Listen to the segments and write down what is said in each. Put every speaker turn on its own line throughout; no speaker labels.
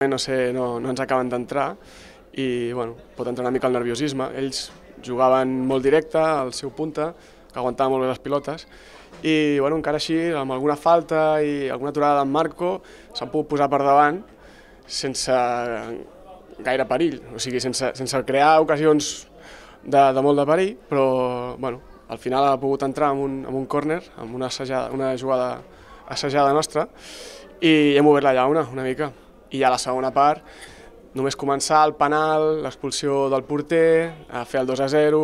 No sé, no ens acaben d'entrar i bueno, pot entrar una mica el nerviosisme. Ells jugaven molt directe, al seu punta, que aguantava molt bé les pilotes, i bueno, encara així, amb alguna falta i alguna aturada d'en Marco, s'han pogut posar per davant sense gaire perill, o sigui, sense crear ocasions de molt de perill, però bueno, al final ha pogut entrar en un córner, amb una jugada assajada nostra, i hem obert la llauna una mica. I ja a la segona part, només començar el penal, l'expulsió del porter, a fer el 2-0,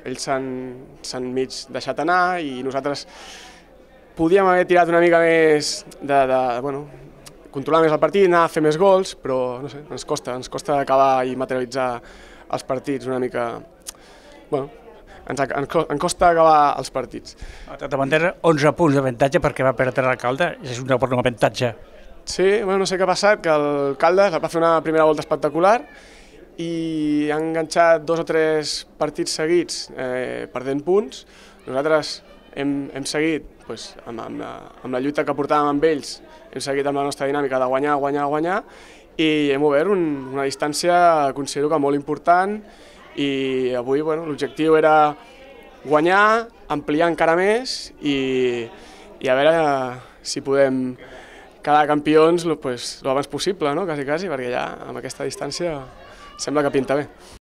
ells s'han mig deixat anar i nosaltres podíem haver tirat una mica més controlar més el partit, anar a fer més gols, però no sé, ens costa acabar i materialitzar els partits una mica. Bueno, ens costa acabar els partits.
De manera, 11 punts d'avantatge perquè va perdre l'Alcalde, és un bon avantatge.
Sí, bueno, no sé què ha passat, que el Caldes va fer una primera volta espectacular i ha enganxat 2 o 3 partits seguits perdent punts. Nosaltres hem seguit amb la lluita que portàvem amb ells, hem seguit amb la nostra dinàmica de guanyar i hem obert una distància, considero que molt important, i avui l'objectiu era guanyar, ampliar encara més i a veure si podem quedar campions el abans possible, quasi, perquè ja amb aquesta distància sembla que pinta bé.